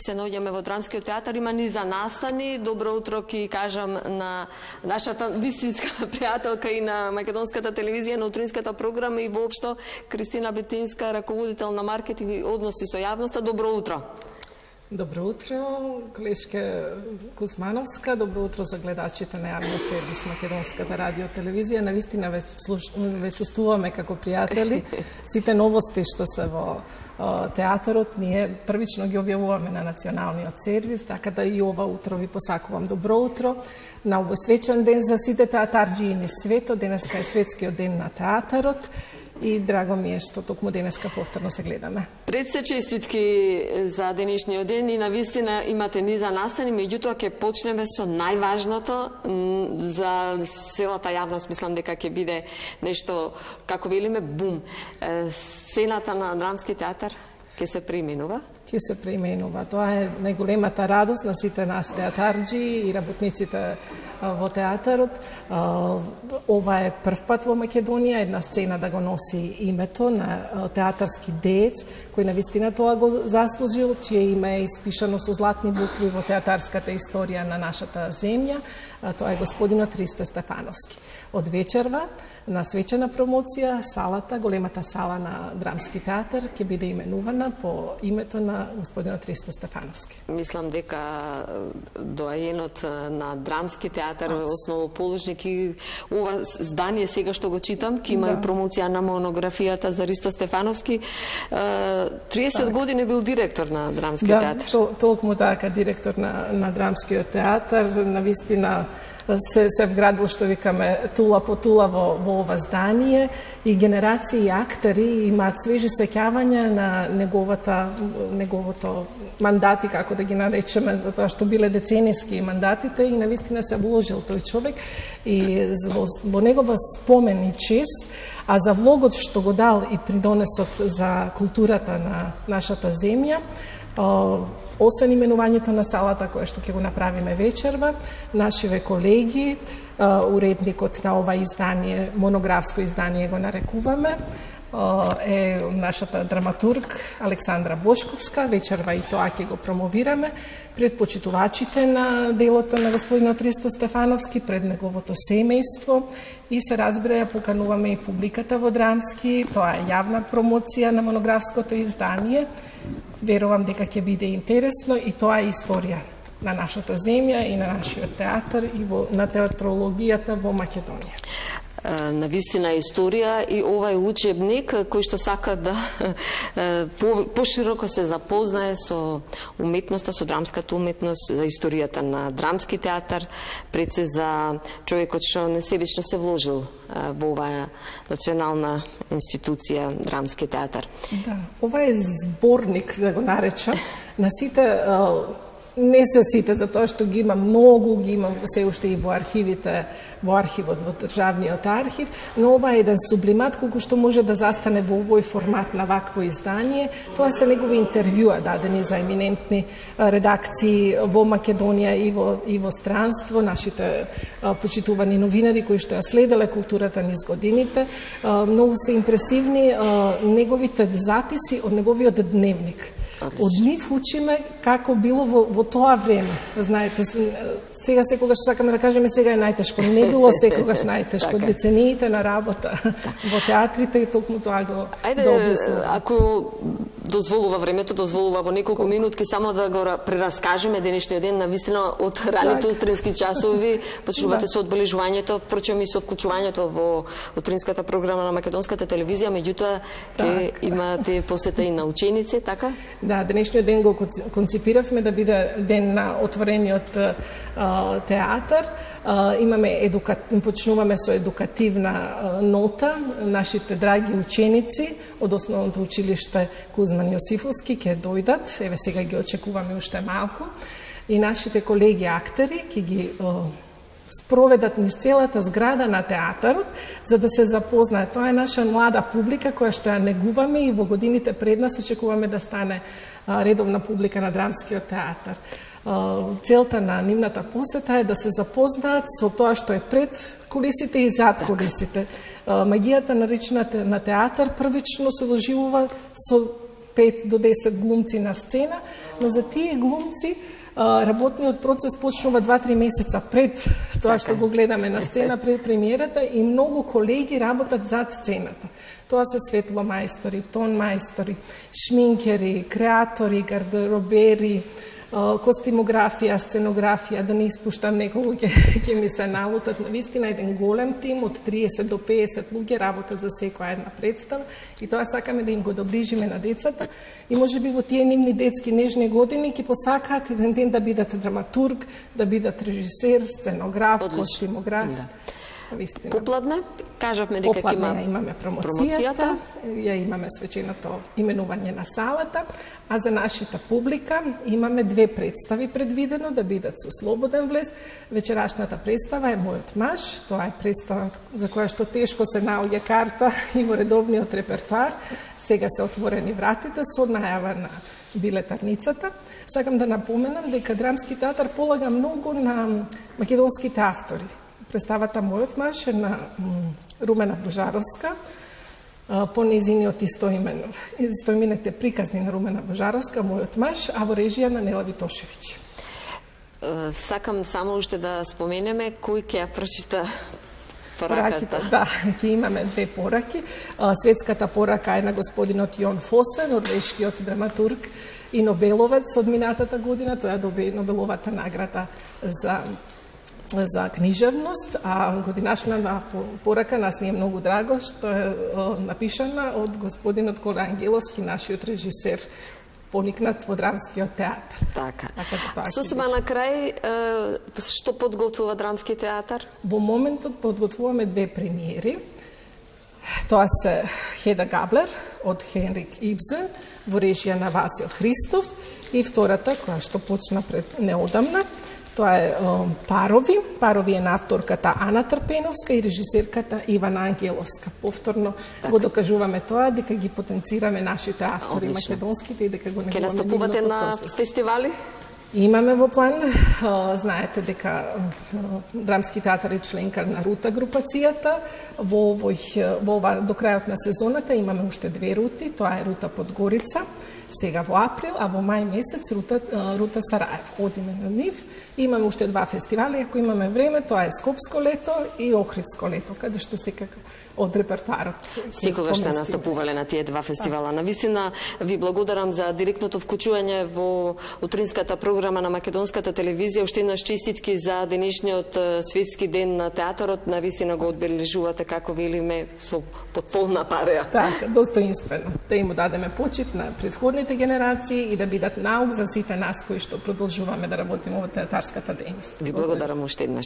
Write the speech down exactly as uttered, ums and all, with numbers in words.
се наоѓаме во Драмскиот театар, има низа настани. Добро утро ки кажам на нашата вистинска пријателка и на македонската телевизија, на утринската програма и воопшто Кристина Бетинска, раководител на маркетинг и односи со јавноста. Добро утро. Добро утро, колешка Кузмановска, добро утро за гледачите на јавниот сервис Македонската радио телевизија. Навистина веќе слуш... ве чувствуваме како пријатели. Сите новости што се во театарот ние првично ги објавуваме на националниот сервис, така да и ова утро ви посакувам добро утро на овој свечен ден за сите театарџии низ светот. Денеска е светскиот ден на театарот и драго ми е што токму денеска повторно се гледаме. Пред се честитки за денешниот ден и навистина имате низа настани, меѓутоа ќе почнеме со најважното за целата јавност. Мислам дека ќе биде нешто, како велиме, бум. Сцената на Драмски театар ќе се преименува? Ќе се преименува. Тоа е најголемата радост на сите нас театарџи и работниците во театарот. Ова е прв пат во Македонија една сцена да го носи името на театарски деец, кој навистина тоа го заслужил, чие име е испишано со златни букви во театарската историја на нашата земја. Тоа е господинот Ристо Стефановски. Од вечерва на свечена промоција салата, големата сала на Драмски театар ќе биде именувана по името на господинот Ристо Стефановски. Мислам дека доаенот на Драмски театар, основоположник и ова здание сега што го читам, ки има да. и промоција на монографијата за Ристо Стефановски. триесет так. години бил директор на Драмски да, театар. То, толкому така директор на, на Драмскиот театар, навистина се, се вградил, што викаме, тула по тула во, во ова здание и генерации актери имаат свежи сеќавања на неговата, неговото мандати, како да ги наречеме, тоа што биле деценијски мандатите и навистина се вложил тој човек и во, во негова спомен и чест, а за влогот што го дал и придонесот за културата на нашата земја, освен именувањето на салата, кое што ќе го направиме вечерва, нашиве колеги, уредникот на ова издание, монографско издание го нарекуваме, е нашата драматург Александра Бошковска. Вечерва и тоа ќе го промовираме пред почитувачите на делото на господинот Ристо Стефановски, пред неговото семејство и се разбира, покануваме и публиката во Драмски. Тоа е јавна промоција на монографското издание. Верувам дека ќе биде интересно и тоа е историја на нашата земја и на нашиот театар и во, на театрологијата во Македонија. Навистина историја и ова е учебник кој што сака да пошироко се запознае со уметноста, со драмската уметност, за историјата на Драмски театар, пред се за човекот што несебично се вложил во оваа национална институција Драмски театар. Да, ова е зборник, да го наречам, на сите, не се сите, затоа што ги има многу, ги има се уште и во архивите, во архивот, во државниот архив, но ова е еден сублимат колку што може да застане во овој формат на вакво издание. Тоа се негови интервјуа дадени за еминентни редакции во Македонија и во, и во странство, нашите почитувани новинари кои што ја следеле културата низ годините. Многу се импресивни неговите записи од неговиот дневник. Од нив учиме како било во, во тоа време. Знаете, сега секогаш сакаме да кажеме сега е најтешко. Не било секогаш најтешко. Децениите на работа во театрите и токму тоа го дообјаснува. Ако дозволува времето, дозволува во неколку Колко? минутки само да го прераскажеме денешниот ден, навистина од раните утрински часови, почнувате да. со одбележувањето, впрочем и со вклучувањето во утринската програма на Македонската телевизија, меѓутоа ќе имате посета и на ученици, така? Да, денешниот ден го конципиравме да биде ден на отворениот а, театар. А, имаме едука... почнуваме со едукативна а, нота. Нашите драги ученици од основното училиште Кузман Јосифовски ќе дојдат. Еве сега ги очекуваме уште малку. И нашите колеги актери ќе ги а, спроведат низ целата зграда на театарот, за да се запознаат. Тоа е наша млада публика која што ја негуваме и во годините пред нас очекуваме да стане а, редовна публика на Драмскиот театар. А, целта на нивната посета е да се запознаат со тоа што е пред кулисите и зад кулисите. А, магијата наречена на театар првично се доживува со пет до десет глумци на сцена, но за тие глумци работниот процес почнува два-три месеца пред тоа што го гледаме на сцена, пред премиерата, и многу колеги работат зад сцената. Тоа се светломајстори, тонмајстори, шминкери, креатори, гардеробери, костимографија, сценографија, да не испуштам некого, ќе, ќе ми се налутат. Навистина еден голем тим од триесет до пеесет луѓе работат за секоја една представа и тоа сакаме да им го доближиме на децата и можеби во тие нивни детски нежни години ќе посакаат еден ден да бидат драматург, да бидат режисер, сценограф, костимограф. Да. Попладне, кажавме дека ќе има имаме промоцијата, ја имаме свеченото именување на салата, а за нашата публика имаме две представи предвидено да бидат со слободен влез. Вечерашната представа е Мојот маж, тоа е представа за која што тешко се наоѓа карта и во редовниот репертоар. Сега се отворени вратите со најава на билетарницата. Сакам да напоменам дека Драмски театар полага многу на македонските автори. Представата Мојот маж е на Румена Божаровска, по нејзиниот истоимен, истоимените приказни на Румена Божаровска, Мојот маж, а во режија на Нела Витошевиќ. Сакам само уште да споменеме кој ќе ја прочита пораката. Да, ќе имаме две пораки. Светската порака е на господинот Јон Фосе, норвешкиот драматург и нобеловец од минатата година. Тој ја доби Нобеловата награда за за книжевност, а годинашната порака нас ни е многу драго што е напишана од господинот Коля Ангеловски, нашиот режисер, поникнат во Драмскиот театар. Така. така Сосема на крај, што подготвува Драмски театар? Во моментот подготвуваме две премиери. Тоа се Хеда Габлер од Хенрик Ибсен во режија на Васил Христов и втората, која што почна пред неодамна, тоа е Парови. Парови е на авторката Ана Трпеновска и режисерката Ивана Ангеловска. Повторно так. го докажуваме тоа, дека ги потенцираме нашите автори Одлично. македонските и дека го негуваме. Ке настапувате на фестивали? Имаме во план, знаете дека Драмски театар е членка на Рута групацијата. Во овој, во ова, до крајот на сезоната имаме уште две рути, тоа е Рута Подгорица, сега во април, а во мај месец Рута, Рута Сараев. Одиме на нив. Имаме уште два фестивали, ако имаме време, тоа е Скопско лето и Охридско лето, каде што секако од репертоарот. Секогаш сте настапувале на тие два фестивала. Навистина ви благодарам за директното вклучување во утринската програма на македонската телевизија. Уште еднаш честитки за денешниот светски ден на театарот. Навистина го одбележувате, како велиме, со потполна пареа. Така, достоинствено. Да им дадеме почит на претходните генерации и да бидат наук за сите нас кои што продолжуваме да работиме во театарската дејност. Ви благодарам уште еднаш.